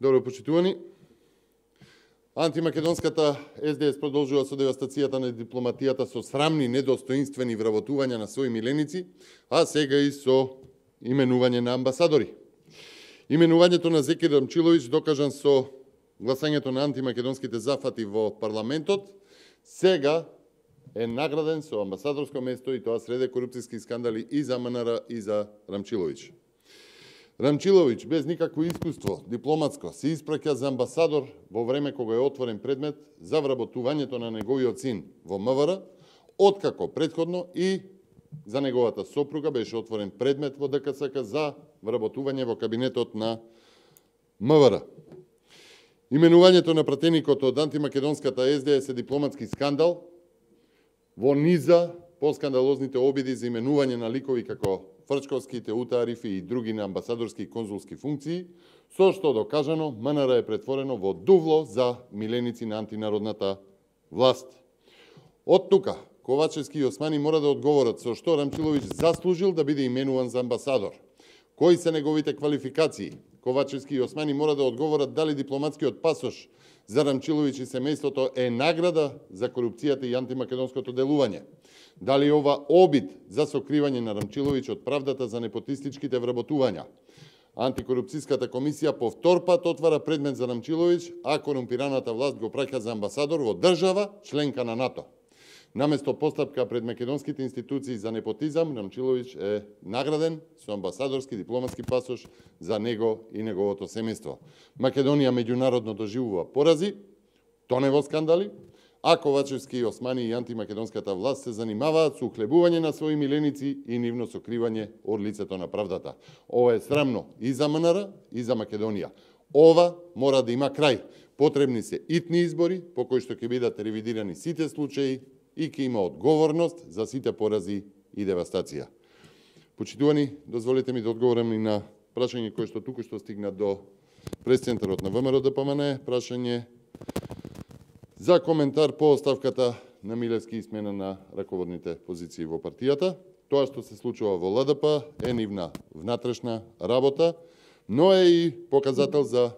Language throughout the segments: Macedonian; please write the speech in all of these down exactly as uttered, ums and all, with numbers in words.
Добро почитувани. Антимакедонската Ес Де Ес продолжува со девастацијата на дипломатијата со срамни, недостоинствени вработувања на своји миленици, а сега и со именување на амбасадори. Именувањето на Зеки Рамчиловиќ, докажан со гласањето на антимакедонските зафати во парламентот, сега е награден со амбасадорско место, и тоа среде корупцијски скандали и за Ем Ен Ар и за Рамчиловиќ. Рамчиловиќ, без никакво искуство дипломатско, се испраќа за амбасадор во време кога е отворен предмет за вработувањето на неговиот син во Ем В Р, откако претходно и за неговата сопруга беше отворен предмет во Д К С К за вработување во кабинетот на Ем В Р. Именувањето на пратеникот од антимакедонската Ес Де Ес е дипломатски скандал во низа поскандалозните обиди за именување на ликови како Фрчковски, Теута Арифи и други на амбасадорски и конзулски функции, со што докажано Ем Ен Ар е претворено во дувло за миленици на антинародната власт. Од тука, Ковачевски и Османи мора да одговорат со што Рамчиловиќ заслужил да биде именуван за амбасадор. Кои се неговите квалификации? Ковачевски и Османи мора да одговорат дали дипломатскиот пасош за Рамчиловиќ и семејството е награда за корупцијата и антимакедонското делување. Дали ова обид за сокривање на Рамчиловиќ од правдата за непотистичките вработувања? Антикорупцијската комисија по втор пат отвара предмет за Рамчиловиќ, а корумпираната власт го праќа за амбасадор во држава членка на НАТО. Наместо постапка пред македонските институции за непотизам, Рамчиловиќ е награден со амбасадорски дипломатски пасош за него и неговото семејство. Македонија меѓународно доживува порази, тоне во скандали, а Ковачевски, Османи и антимакедонската власт се занимаваат со ухлебување на своји миленици и нивно сокривање од лицето на правдата. Ова е срамно и за Ем Ен Ар и за Македонија. Ова мора да има крај. Потребни се итни избори по кои што ќе бидат ревидирани сите случаи и ќе има одговорност за сите порази и девастација. Почитувани, дозволете ми да одговорам и на прашање кој што туку што стигна до пресцентарот на Вэ Ем Р Д П М Н, прашање за коментар по оставката на Милевски и смена на раководните позиции во партијата. Тоа што се случува во Л Д П е нивна внатрешна работа, но е и показател за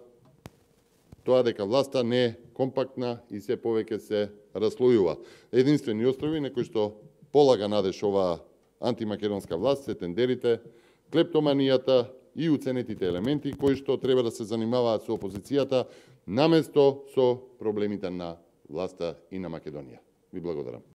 тоа дека власта не е компактна и се повеќе се раслојува. Единствени острови на кои што полага надеж оваа антимакедонска власт се тендерите, клептоманијата и уценетите елементи кои што треба да се занимаваат со опозицијата наместо со проблемите на власта и на Македонија. Ви благодарам.